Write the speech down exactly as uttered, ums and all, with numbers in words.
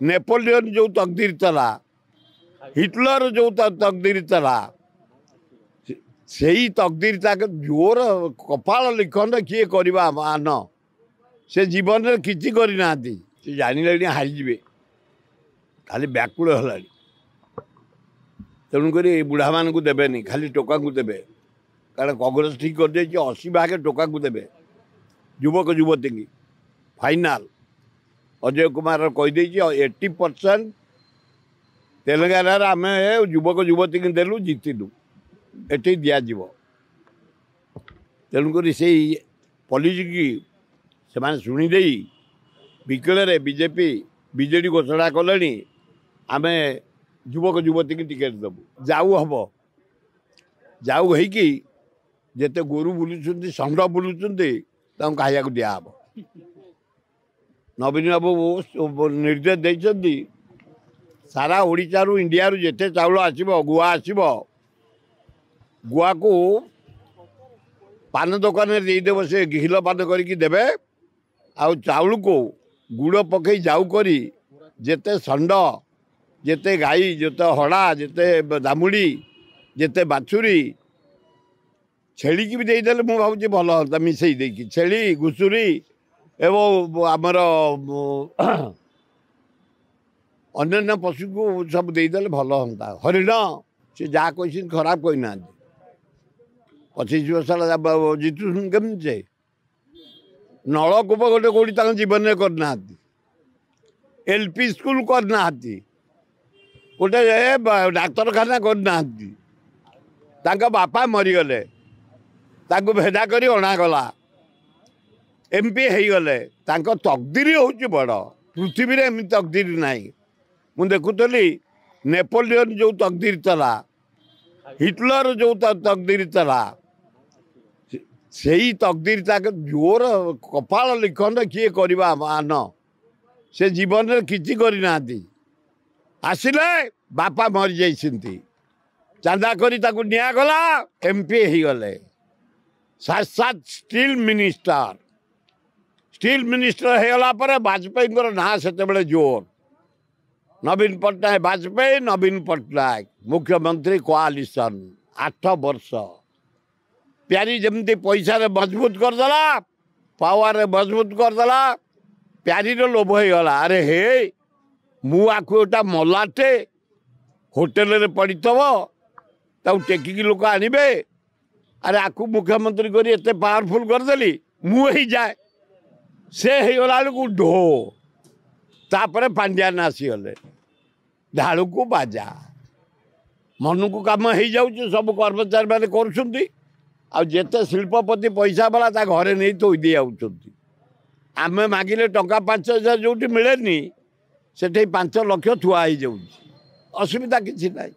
Napoleon ଯେଉଁ ତକଦିର ଥିଲା, Hitler ଯେଉଁ ତକଦିର ଥିଲା, ସେଇ ତକଦିର ତାଙ୍କ ଜୋର କପାଳ ଲିଖନ କିଏ କରିବା ମାନ। ସେ ଜୀବନରେ କିଛି କରିନାହାନ୍ତି। ସେ ଜାଣିଲେଣି ହାରିଯିବେ, ଖାଲି ବ୍ୟାକୁଳ ହେଲାଣି। ତେଣୁକରି ଏ ବୁଢ଼ାମାନଙ୍କୁ ଦେବେନି, ଖାଲି ଟୋକାଙ୍କୁ ଦେବେ। କାରଣ କଂଗ୍ରେସ ଠିକ୍ କରିଦେଇଛି, ଅଶୀ ଭାଗ ଟୋକାଙ୍କୁ ଦେବେ, ଯୁବକ ଯୁବତୀଙ୍କି। ଫାଇନାଲ ଅଜୟ କୁମାର କହିଦେଇଛି, ଏଇଟି ପରସେଣ୍ଟ ତେଲେଙ୍ଗାନାରେ ଆମେ ଯୁବକ ଯୁବତୀଙ୍କୁ ଦେଲୁ, ଜିତିଲୁ, ଏଠି ଦିଆଯିବ। ତେଣୁକରି ସେଇ ପଲିସିକି ସେମାନେ ଶୁଣିଦେଇ ବିକଳରେ ବିଜେପି ବିଜେଡ଼ି ଘୋଷଣା କଲେଣି, ଆମେ ଯୁବକ ଯୁବତୀକି ଟିକେଟ୍ ଦେବୁ। ଯାଉ ହେବ, ଯାଉ ହେଇକି ଯେତେ ଗୋରୁ ବୁଲୁଛନ୍ତି, ଷଣ୍ଢ ବୁଲୁଛନ୍ତି, ତାଙ୍କୁ ଖାଇବାକୁ ଦିଆହେବ। ନବୀନ ବାବୁ ନିର୍ଦ୍ଦେଶ ଦେଇଛନ୍ତି, ସାରା ଓଡ଼ିଶାରୁ ଇଣ୍ଡିଆରୁ ଯେତେ ଚାଉଳ ଆସିବ, ଗୁଆ ଆସିବ, ଗୁଆକୁ ପାନ ଦୋକାନରେ ଦେଇଦେବ, ସେ ଘିଲ ପାନ କରିକି ଦେବେ। ଆଉ ଚାଉଳକୁ ଗୁଡ଼ ପକେଇ ଯାଉ କରି ଯେତେ ଷଣ୍ଢ, ଯେତେ ଗାଈ, ଯେତେ ହଡ଼ା, ଯେତେ ଦାମୁଡ଼ି, ଯେତେ ବାଛୁରୀ, ଛେଳିକି ବି ଦେଇଦେଲେ ମୁଁ ଭାବୁଛି ଭଲ ହୁଅନ୍ତା, ମିଶେଇ ଦେଇକି ଛେଳି, ଘୁଷୁରୀ ଏବଂ ଆମର ଅନ୍ୟାନ୍ୟ ପଶୁକୁ ସବୁ ଦେଇଦେଲେ ଭଲ ହୁଅନ୍ତା। ହରିଣ, ସେ ଯାହା କହିଛନ୍ତି ଖରାପ କହିନାହାନ୍ତି। ପଚିଶ ବର୍ଷ ହେଲା ଜିତୁଛନ୍ତି କେମିତି? ସେ ନଳକୂପ ଗୋଟେ କେଉଁଠି ତାଙ୍କ ଜୀବନରେ କରିନାହାନ୍ତି, ଏଲ୍ ପି ସ୍କୁଲ କରିନାହାନ୍ତି, ଗୋଟେ ଡାକ୍ତରଖାନା କରିନାହାନ୍ତି। ତାଙ୍କ ବାପା ମରିଗଲେ, ତାଙ୍କୁ ଭେଦା କରି ଅଣାଗଲା, ଏମ୍ ପି ହେଇଗଲେ। ତାଙ୍କ ତକଦିର ହେଉଛି ବଡ଼, ପୃଥିବୀରେ ଏମିତି ତକଦିର ନାହିଁ। ମୁଁ ଦେଖୁଥିଲି ନେପୋଲିୟନ ଯେଉଁ ତକଦିର ଥିଲା, ହିଟଲର ଯେଉଁ ତକଦିର ଥିଲା, ସେଇ ତକଦିର ତାଙ୍କ ଜୋର କପାଳ ଲିଖନ କିଏ କରିବା ମାନ। ସେ ଜୀବନରେ କିଛି କରିନାହାନ୍ତି। ଆସିଲେ ବାପା ମରିଯାଇଛନ୍ତି, ଚାନ୍ଦା କରି ତାକୁ ନିଆଗଲା, ଏମ୍ ପି ହେଇଗଲେ, ସାତ ସାତ ଷ୍ଟିଲ୍ ମିନିଷ୍ଟର। ଷ୍ଟିଲ୍ ମିନିଷ୍ଟର ହେଇଗଲା ପରେ ବାଜପେୟୀଙ୍କର ନାଁ ସେତେବେଳେ ଜୋର। ନବୀନ ପଟ୍ଟନାୟକ, ବାଜପେୟୀ, ନବୀନ ପଟ୍ଟନାୟକ ମୁଖ୍ୟମନ୍ତ୍ରୀ କୋଆଲିସନ୍ ଆଠ ବର୍ଷ। ପ୍ୟାରୀ ଯେମିତି ପଇସାରେ ମଜବୁତ କରିଦେଲା, ପାୱାରରେ ମଜବୁତ କରିଦେଲା, ପ୍ୟାରୀର ଲୋଭ ହେଇଗଲା। ଆରେ ହେ, ମୁଁ ଆକୁ ଗୋଟା ମଲାଟେ ହୋଟେଲରେ ପଡ଼ିଥିବ, ତାକୁ ଟେକିକି ଲୋକ ଆଣିବେ। ଆରେ ଆକୁ ମୁଖ୍ୟମନ୍ତ୍ରୀ କରି ଏତେ ପାୱାରଫୁଲ୍ କରିଦେଲି, ମୁଁ ହେଇଯାଏ। ସେ ହେଇଗଲା ବେଳକୁ ଢୋ। ତାପରେ ପାଣ୍ଡିଆନ ଆସିଗଲେ, ଢାଳୁକୁ ବାଜା, ମନକୁ କାମ ହେଇଯାଉଛି। ସବୁ କର୍ମଚାରୀମାନେ କରୁଛନ୍ତି, ଆଉ ଯେତେ ଶିଳ୍ପପତି ପଇସା ବାଲା ତା ଘରେ ନେଇ ଥୋଇ ଦେଇ ଯାଉଛନ୍ତି। ଆମେ ମାଗିଲେ ଟଙ୍କା ପାଞ୍ଚ ହଜାର ଯେଉଁଠି ମିଳେନି, ସେଠି ପାଞ୍ଚ ଲକ୍ଷ ଥୁଆ ହେଇଯାଉଛି। ଅସୁବିଧା କିଛି ନାହିଁ।